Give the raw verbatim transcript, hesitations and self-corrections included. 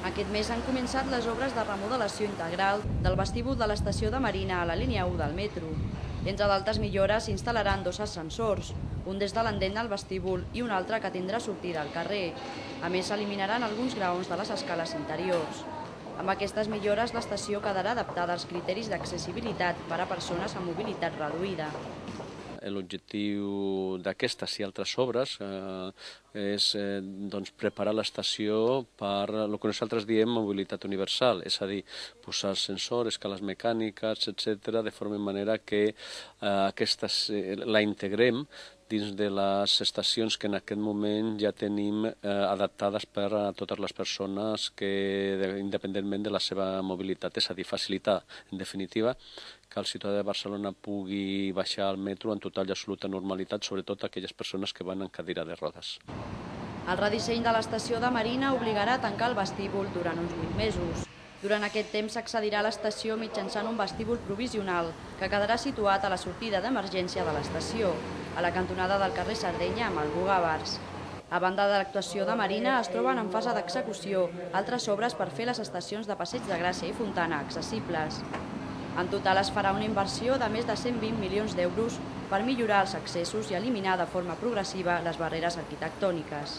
Aquest mes han començat les obres de remodelació integral del vestíbul de l'estació de Marina a la línia u del metro. Entre d'altres millores s'instal·laran dos ascensors, un des de l'endent al vestíbul i un altre que tindrà sortida al carrer. A més, s'eliminaran alguns graons de les escales interiors. Amb aquestes millores, l'estació quedarà adaptada als criteris d'accessibilitat per a persones amb mobilitat reduïda. L'objectiu d'aquestes i altres obres eh, és eh, doncs, preparar l'estació per el que nosaltres diem mobilitat universal, és a dir, posar ascensors, escales mecàniques, etcètera, de forma manera que eh, aquestes, eh, la integrem dins de les estacions que en aquest moment ja tenim eh, adaptades per a totes les persones que, independentment de la seva mobilitat, és a dir, facilitar, en definitiva, que el ciutadà de Barcelona pugui baixar al metro en total i absoluta normalitat, sobretot aquelles persones que van en cadira de rodes. El redisseny de l'estació de Marina obligarà a tancar el vestíbul durant uns vuit mesos. Durant aquest temps s'accedirà a l'estació mitjançant un vestíbul provisional que quedarà situat a la sortida d'emergència de l'estació, a la cantonada del carrer Sardenya amb el Bugàvars. A banda de l'actuació de Marina, es troben en fase d'execució altres obres per fer les estacions de Passeig de Gràcia i Fontana accessibles. En total es farà una inversió de més de cent vint milions d'euros per millorar els accessos i eliminar de forma progressiva les barreres arquitectòniques.